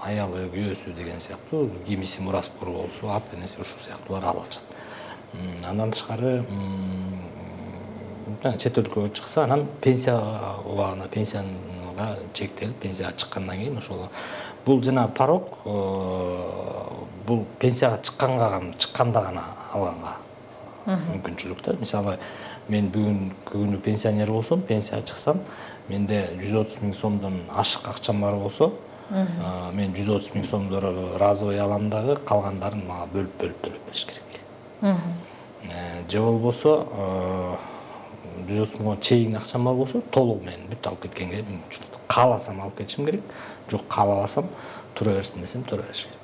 аялы, күйөөсү деген сыяктуу кимиси мураскор болсо, ата энеси ушул сыяктуулар алып атышат. Андан тышкары чет өлкөгө чыкса, анан пенсия убагына, пенсияга чектелип, пенсияга чыккандан кийин ошол бул жана порог, бул пенсияга чыкканда гана алганга мүмкүнчүлүк да. Мисалы, мен бүгүнкү күнү пенсионер болсом, пенсияга чыксам, менде 130 000 сомдон ашык акчам бар болсо, мен 130 000 сомду разовый алам дагы, калгандарын мага бөлүп төлөп бериш керек. Же болбосо 130 000 чейин акчам бар болсо, толугу мен бүт алып кеткенге мүмкүнчүлүк. Кааласам алып кетишим керек, жок каалабасам тура берсин десем тура бериш керек.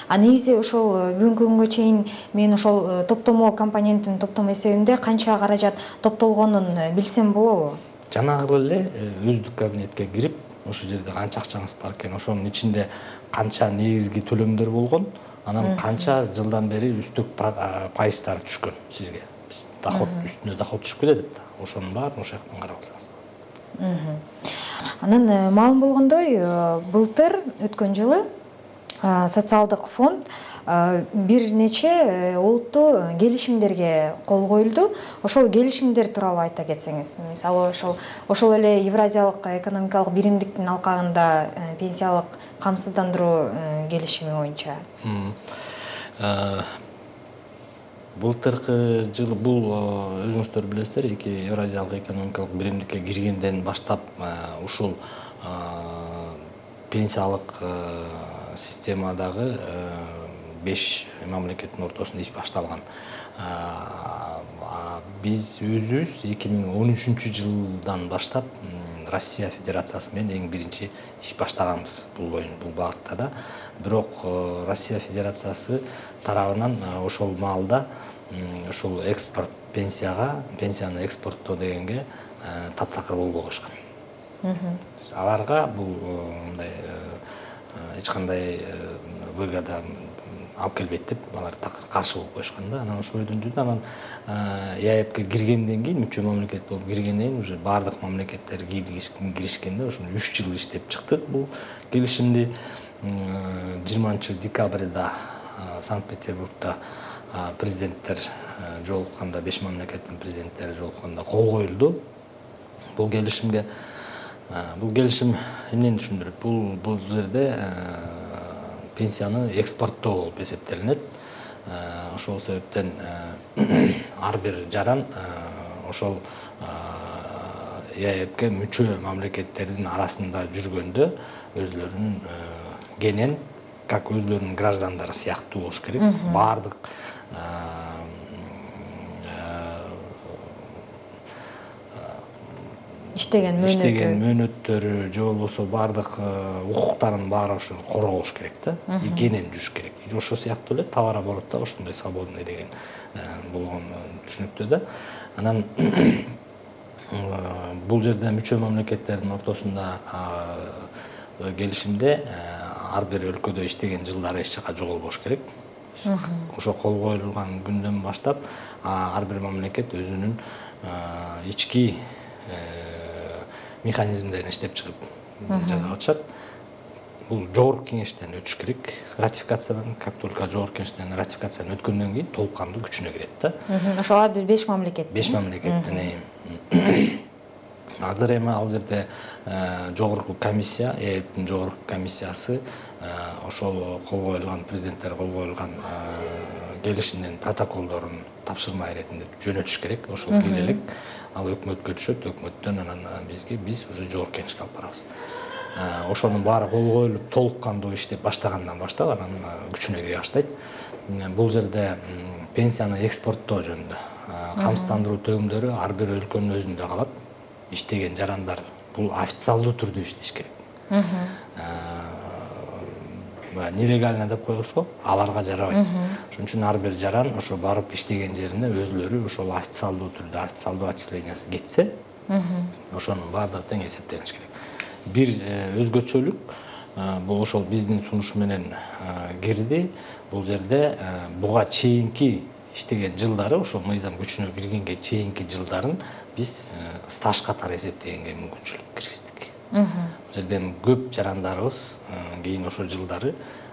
Негизи ошол бүгүнкү күнгө чейин мен ошол топтомо компоненттин топтомо эсебинде канча каражат топтолгонун билсем болобу?
Жанагы эле өздүк кабинетке кирип, ошол жерде канча акчаңыз бар экен, ошонун ичинде канча негизги төлөмдөр болгон, анан канча жылдан бери үстөк пайыздар түшкөн сизге. Доход үстүнө доход түшүп кетет да. Ошонун баарын ошол жактан карап алсаңыз болот.
Анан маалым болгондой, былтыр өткөн жылы социалдык фонд бир нече олуттуу келишимдерге кол коюлду. Ошол келишимдер тууралуу айта кетсеңиз. Мисалы, ошол эле Евразиялык экономикалык биримдиктин алкагында пенсиялык камсыздандыруу келишими боюнча.
Былтыркы жылы бул өзүңүздөр билесиздер, эки Евразиялык экономикалык биримдикке киргенден баштап ушул пенсиялык системадагы 5 мамлекеттин ортосунда иш башталган. Биз өзүбүз 2013 жылдан баштап Россия Федерациясы менен эң биринчи иш баштаганбыз бул багытта да. Бирок Россия Федерациясы тарабынан ошол маалда ушул экспорт пенсияны экспорттоо дегенге таптакыр болбой коюшкан. Аларга бул мындай эч кандай выгода алып келбейт деп алар такыр каршы болуп коюшкан да. Анан ошол бойдон жүрдү. Анан ЕАЭПке киргенден кийин, мүчө мамлекет болуп киргенден кийин уже бардык мамлекеттер киришкенде ошону 3 жыл иштеп чыктык бул келишимди. 20 декабрда Санкт-Петербургда президенттер жолукканда, 5 мамлекеттин президенттери жолукканда кол коюлду бул келишимге. Бул келишим эмнени түшүндүрөт? Бул жерде пенсияны экспорттоо болуп эсептелинет. Ошол себептен ар бир жаран ошол ЕАЭПке мүчө мамлекеттердин арасында жүргөндө өзлөрүнүн кенен, как өзлөрүнүн граждандары сыяктуу болуш керек. Бардык
иштеген
мөөнөттөрү же болбосо бардык укуктарын баары ошо корголуш керек да. Кенен жүрүш керек. Ошол сыяктуу эле товарооборотто ошондой свободный деген болгон түшүнүктүү да. Анан бул жерде мүчө мамлекеттердин ортосунда келишимде ар бир өлкөдө иштеген жылдары эч жака жоголбош керек. Ошо кол коюлган күндөн баштап ар бир мамлекет өзүнүн ички механизмдерин иштеп чыгып жасап атышат. бул жогорку кеңештен өтүш керек, ратификациядан. Как только жогорку кеңештен ратификациядан өткөндөн кийин толук кандуу күчүнө кирет да.
Ошол ар бир 5 мамлекет.
5 мамлекеттен азыр эми ал жерде жогорку комиссия, ЭЭПтин жогорку комиссиясы ошол кол коюлган президенттер кол коюлган келишимдин протоколдорун тапшырма иретинде жөнөтүш керек. Ошол келелик ал өкмөткө түшөт, өкмөттөн анан биз уже жогорку кеңешке алып барабыз. Ошонун баары кол коюлуп толук кандуу иштеп баштагандан баштап анан күчүнө кире баштайт. Бул жерде пенсияны экспорттоо жөнүндө камсыздандыруу төгүмдөрү ар бир өлкөнүн өзүндө калат. Иштеген жарандар бул официалдуу түрдө иштеш керек. Нелегально деп коебуз го, аларга жарабайт. Ошон үчүн ар бир жаран ошо барып иштеген жерине өзлөрү ошол официалдуу түрдө, официалдуу отчислениясы кетсе, ошонун баардыгы тең эсептелиш керек. Бир өзгөчөлүк бул ошол биздин сунуш менен кирди. Бул жерде буга чейинки иштеген жылдары, ошол мыйзам күчүнө киргенге чейинки жылдарын биз стаж катары эсептегенге мүмкүнчүлүк киргиздик. Бул жерде көп жарандарыбыз кийин ошол жылдары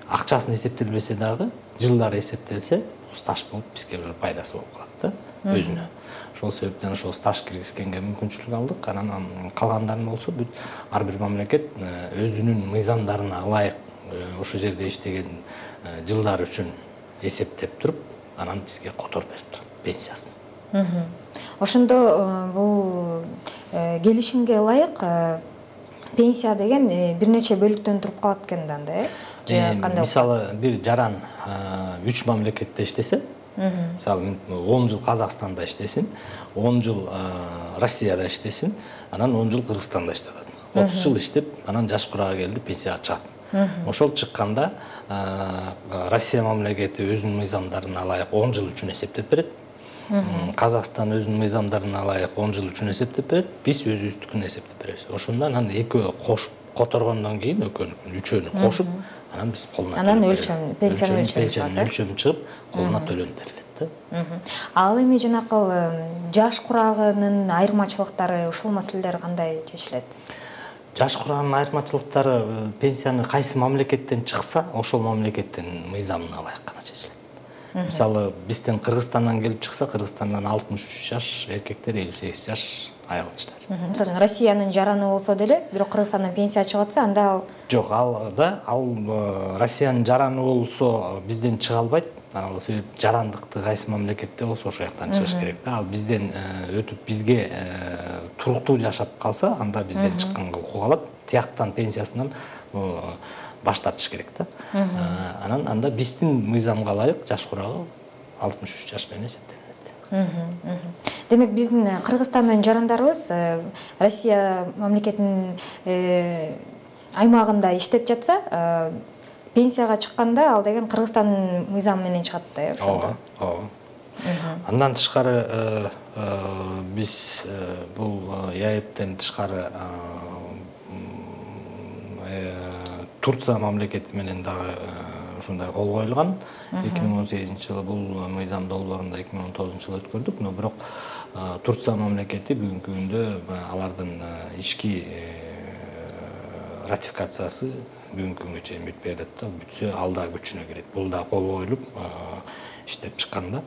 акчасын эсептелбесе дагы, жылдары эсептелсе, стаж болуп бизге уже пайдасы болуп калат да өзүнө. Ошол себептен ошол стаж киргизгенге мүмкүнчүлүк алдык. Анан калгандарын болсо бүт ар бир мамлекет өзүнүн мыйзамдарына ылайык ошол жерде иштеген жылдар үчүн эсептеп туруп, анан бизге которуп берип турат пенсиясын.
Ошондо бул келишимге ылайык пенсия деген бир нече бөлүктөн туруп калат экен да анда,
Мисалы, бир жаран 3 мамлекетте иштесе, мисалы 10 жыл Казакстанда иштесин, 10 жыл Россияда иштесин, анан 10 жыл Кыргызстанда иштеп, 30 жыл иштеп, анан жаш курага келди, пенсияга чыгат. Ошол чыкканда Россия мамлекети өзүнүн мыйзамдарына ылайык 10 жыл үчүн эсептеп берет. Казакстан өзүнүн мыйзамдарына ылайык 10 жыл үчүн эсептеп берет. Биз өзүбүздүкүн эсептеп беребиз. Ошондо анан экөө кошуп которгондон кийин үчөөнү кошуп, анан биз колуна
анан пенсиянын
өлчөмү чыгып, колуна төлөнүп берилет да.
Ал эми жанакыл жаш курагынын айырмачылыктары, ушул маселелер кандай чечилет?
Жаш курагынын айырмачылыктары пенсияны кайсы мамлекеттен чыкса, ошол мамлекеттин мыйзамына ылайык гана чечилет. Мисалы, бизден Кыргызстандан келип чыкса, Кыргызстандан 63 жаш эркектер, 58 жаш айылчылар.
Мисалы, Россиянын жараны болсо деле, бирок Кыргызстандан пенсия чыгып атса, анда ал
жок, ал Россиянын жараны болсо бизден чыга албайт. Ал себеп жарандыкты кайсы мамлекетте болсо ошол жактан чыгыш керек да. Ал бизден өтүп бизге туруктуу жашап калса, анда бизден чыкканга укук алат. Тияктан пенсиясынан баш тартыш керек да. Анан анда биздин мыйзамга ылайык жаш курагы 63 жаш менен эсептелет.
Демек биздин Кыргызстандын жарандарыбыз Россия мамлекетинин аймагында иштеп жатса, пенсияга чыкканда ал деген Кыргызстандын мыйзамы менен чыгат да, ошондо.
Ооба. Андан тышкары биз бул ЯЭПтен тышкары Турция мамлекети менен дагы ушундай кол коюлган. 2018-жылы бул мыйзам долбоорунда 2019-жылы өткөрдүк, но бирок Турция мамлекети бүгүнкү күндө алардын ички ратификациясы бүгүнкү күнгө чейин бүтпөй атат да. Бүтсө ал да күчүнө кирет. Бул да кол коюлуп иштеп чыкканда.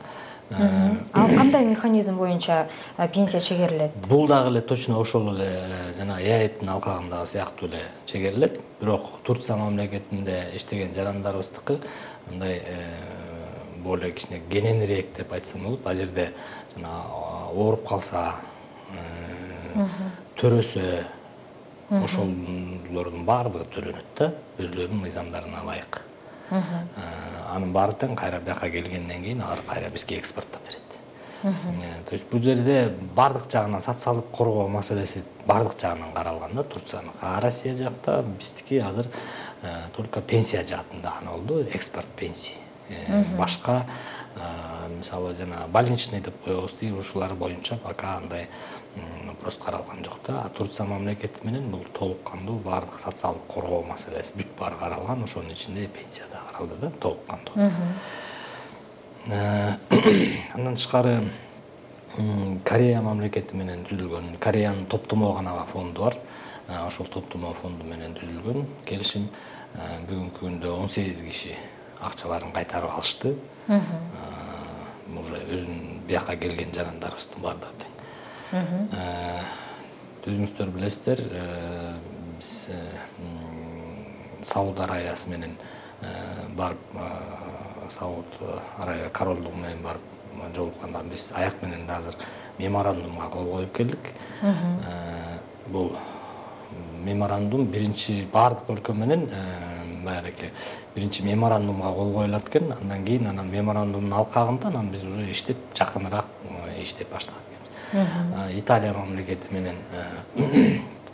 Ал кандай механизм боюнча пенсия чегерилет?
Бул дагы эле точно ошол эле жана ЯЭПтин алкагындагы сыяктуу эле чегерилет. Бирок Турция мамлекетинде иштеген жарандарыбыздыкы мындай более кичине кененирээк деп айтсам болот. Ал жерде жана ооруп калса, төрөсө, ошолордун баардыгы төлөнөт да, өзлөрүнүн мыйзамдарына ылайык. Анын баары тең кайра бияка келгенден кийин алар кайра бизге экспорттоп берет. То есть бул жерде бардык жагынан социалдык коргоо маселеси бардык жагынан каралган да, Турциянын. Россия жакта биздики азыр только пенсия жаатында гана болду, экспорт пенсии. Башка мисалы жана больничный деп коебуз дейт, ушулар боюнча пока андай вопрос каралган жок да. А Турция мамлекети менен бул толук кандуу бардык социалдык коргоо маселеси бүт баары каралган, ошонун ичинде пенсия да каралды да, толук кандуу. Андан тышкары Корея мамлекети менен түзүлгөн, Кореянын топтомо гана фонду бар. Ошол топтомо фонду менен түзүлгөн келишим. бүгүнкү күндө 18 киши акчаларын кайтарып алышты. Уже өзүнүн бияка келген жарандарыбыздын баардыгы тең. Өзүңүздөр билесиздер, биз Сауд Арабиясы менен барып, Сауд Арабия королдугу менен барып жолукканда биз аяк менен азыр меморандумга кол коюп келдик. Бул меморандум биринчи баардык өлкө менен баягы биринчи меморандумга кол коюлат экен. Андан кийин анан меморандумдун алкагында анан биз уже иштеп жакыныраак иштеп баштадык. Италия мамлекети менен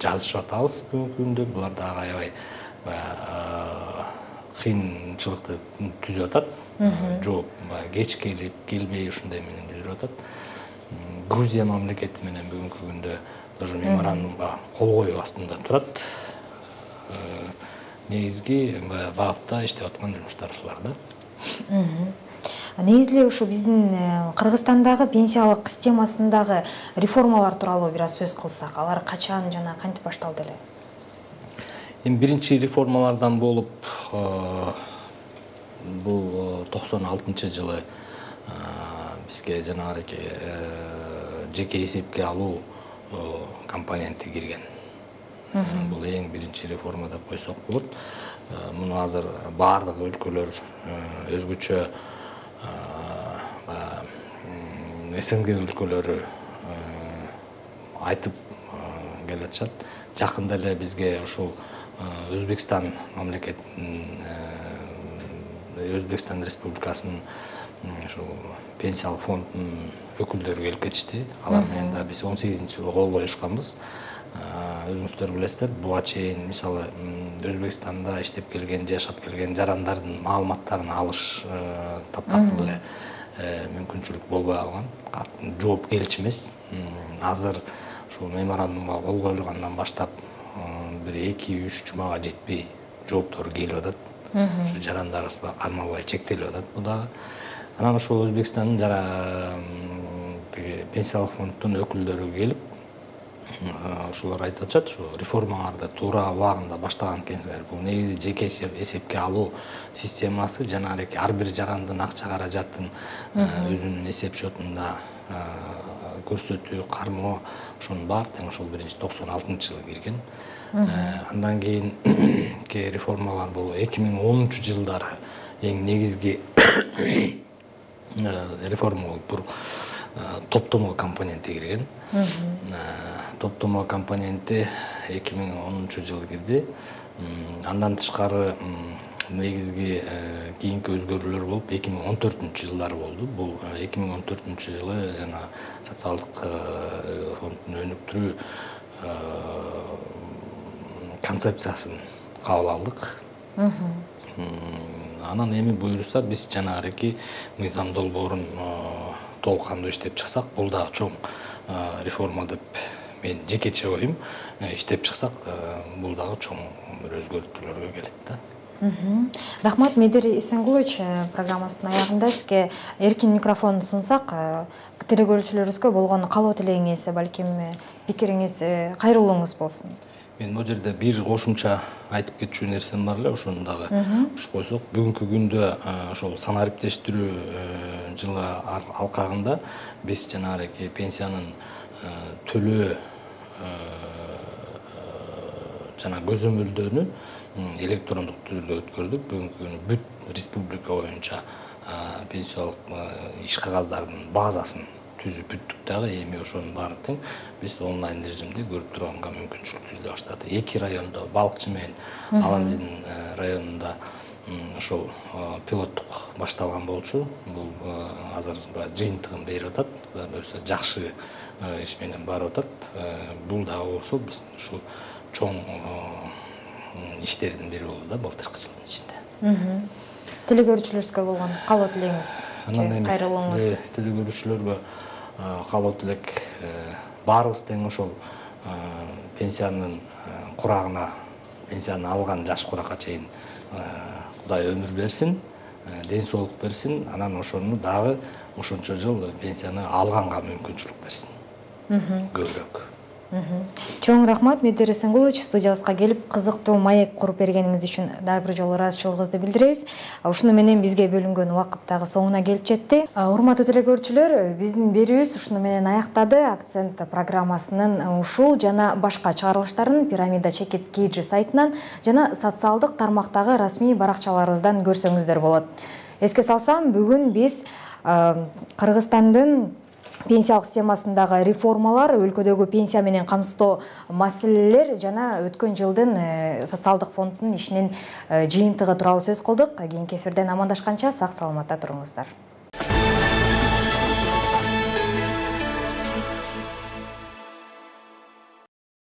жазышып атабыз бүгүнкү күндө. Булар дагы аябай кыйынчылыкты түзүп атат. Жооп кеч келбей ушундай менен жүрүп атат. Грузия мамлекети менен бүгүнкү күндө тоже меморандумга кол коюу астында турат. Негизги багытта иштеп аткан жумуштар ушулар да.
Негизи ушу биздин Кыргызстандагы пенсиялык системасындагы реформалар тууралуу бир аз сөз кылсак, алар качан жана кантип башталды эле?
Эми биринчи реформалардан болуп бул 96-жылы бизге жанагы жеке эсепке алуу компоненти кирген. Бул эң биринчи реформа деп койсок болот. Муну азыр баардык өлкөлөр өзгөчө СНГ өлкөлөрү айтып келатышат. Жакында эле бизге ушул Өзбекстан мамлекетинин Өзбекстан Республикасынын ушул пенсиялык фондунун өкүлдөрү келип кетишти. Алар менен да биз 18-жылы кол коюшканбыз. Өзүңүздөр билесиздер, буга чейин мисалы Өзбекстанда иштеп келген, жашап келген жарандардын маалыматтарын алыш таптакыр эле мүмкүнчүлүк болбой калган. Жооп келчү эмес. Азыр ушул меморандумга кол коюлгандан баштап бир 2-3 жумага жетпей жооптору келип атат. Ушу жарандарыбызга кармалбай чектелип атат бу дагы. Анан ошол Өзбекстандын пенсиялык фонддун өкүлдөрү келип ушулар айтып атышат, ушу реформаларды туура убагында баштаган экенсиңер. Бул негизи жеке эсепке алуу системасы жанагы ар бир жарандын акча каражатын өзүнүн эсеп счетунда көрсөтүү, кармоо, ошонун баары тең ошол 96-жылы кирген. Андан кийин реформалар бул 2010-жылдары эң негизги реформа болуп бул топтомо компоненти кирген. Топтомо компоненти 2010-жылы кирди. Андан тышкары негизги кийинки өзгөрүүлөр болуп 2014-жылдары болду. Бул 2014-жылы жана социалдык фонддун өнүктүрүү концепциясын кабыл алдык. Анан эми буюрса биз жанагы мыйзам долбоорун толук кандуу иштеп чыксак, бул дагы чоң реформа деп мен жекече оюм. Иштеп чыксак, бул дагы чоң бир өзгөртүүлөргө келет да.
Рахмат, Медер Исенгулович, программасынын аягында сизге эркин микрофон сунсак, тере көрүүчүлөрүбүзгө болгон каалоо тилегиңиз, балким пикириңиз, кайрылууңуз болсун.
Мен бул жерде бир кошумча айтып кетчү нерсем бар эле, ошону дагы ушу койсок, бүгүнкү күндө ошол санариптештирүү жылы алкагында биз жанагы пенсиянын төлөө жана көзөмөлдөөнү электрондук түрдө өткөрдүк. Бүгүнкү күнү бүт республика боюнча пенсиялык иш кагаздардын базасын түзүп бүттүк дагы. Эми ошонун баары тең биз онлайн режимде көрүп турганга мүмкүнчүлүк түзүлө баштады. 2 райондо, Балыкчы менен Аламдин районунда ошол пилоттук башталган болчу. Бул азыр жыйынтыгын берип атат. Буюрса жакшы иш менен барып атат. Бул дагы болсо биз ушул чоң иштердин бири болду да былтыркы жылдын ичинде.
Теле көрүүчүлөрүбүзгө болгон каалоо тилегиңиз, кайрылууңуз.
Теле көрүүчүлөргө каалоо тилек, баарыбыз тең ошол пенсиянын курагына, пенсияны алган жаш куракка чейин Кудай өмүр берсин, ден соолук берсин, анан ошону дагы ошончо жыл пенсияны алганга мүмкүнчүлүк берсин. Көбүрөөк.
Чоң рахмат, Медер Эсенгулович, студиябызга келип кызыктуу маек куруп бергениңиз үчүн дагы бир жолу ыраазычылыгыбызды билдиребиз. Ушуну менен бизге бөлүнгөн убакыт дагы соңуна келип жетти. Урматтуу телекөрүүчүлөр, биздин берүүбүз ушуну менен аяктады. Акцент программасынын ушул жана башка чыгарылыштарын Пирамида Чекит KG сайтынан жана социалдык тармактагы расмий баракчаларыбыздан көрсөңүздөр болот. Эске салсам, бүгүн биз Кыргызстандын пенсиялык системасындагы реформалар, өлкөдөгү пенсия менен камсыздоо маселелер жана өткөн жылдын социалдык фонддун ишинин жыйынтыгы тууралуу сөз кылдык. Кийинки эфирден амандашканча сак саламатта туруңуздар.